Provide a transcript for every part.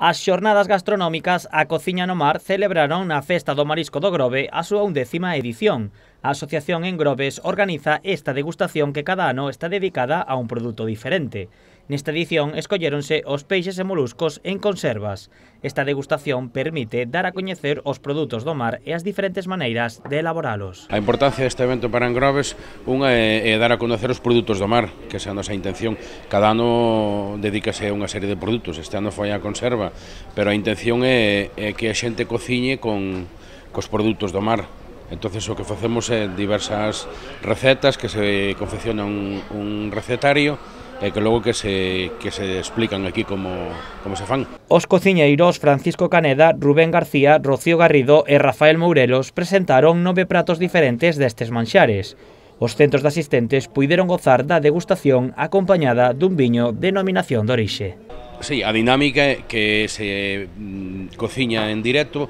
As xornadas gastronómicas A Cociña no Mar celebraron na Festa do Marisco do Grove a súa 11ª edición. A Asociación En Groves organiza esta degustación que cada ano está dedicada a un produto diferente. Nesta edición escolléronse os peixes e moluscos en conservas. Esta degustación permite dar a coñecer os produtos do mar e as diferentes maneiras de elaboralos. A importancia deste evento para En Groves, unha é dar a conocer os produtos do mar, que esa é a nosa intención. Cada ano dedícase a unha serie de produtos, este ano foi a conserva, pero a intención é que a xente cociñe cos produtos do mar. Entonces o que facemos é diversas recetas que se confecciona un recetario e que logo que se explican aquí como se fan. Os cociñeiros Francisco Caneda, Rubén García, Rocío Garrido e Rafael Mourelos presentaron 9 pratos diferentes destes manxares. Os centros de asistentes puideron gozar da degustación acompañada dun viño de denominación de orixe. Sí, a dinámica é que se cociña en directo,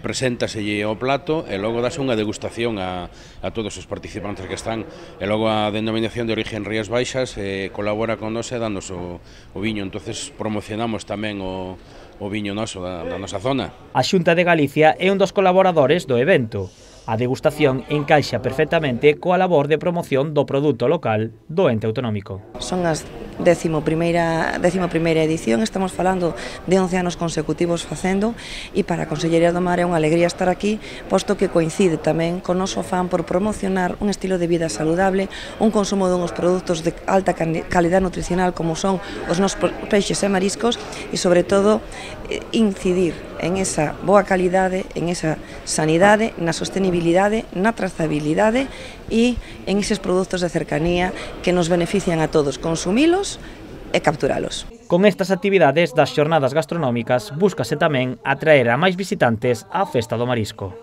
preséntaselle o plato e logo dase unha degustación a todos os participantes que están. E logo a denominación de origen Rías Baixas colabora con nos e danos o viño, entonces promocionamos tamén o viño noso da nosa zona. A Xunta de Galicia é un dos colaboradores do evento. A degustación encaixa perfectamente coa labor de promoción do produto local do ente autonómico. Son as 11ª edición, estamos falando de 11 anos consecutivos facendo, e para a Consellería do Mar é unha alegría estar aquí, posto que coincide tamén con o noso afán por promocionar un estilo de vida saludable, un consumo dunhos produtos de alta calidad nutricional como son os nosos peixes e mariscos, e sobre todo incidir en esa boa calidade, en esa sanidade, na sostenibilidade, na trazabilidade e en eses produtos de cercanía que nos benefician a todos, consumilos e capturalos. Con estas actividades das xornadas gastronómicas búscase tamén atraer a máis visitantes á Festa do Marisco.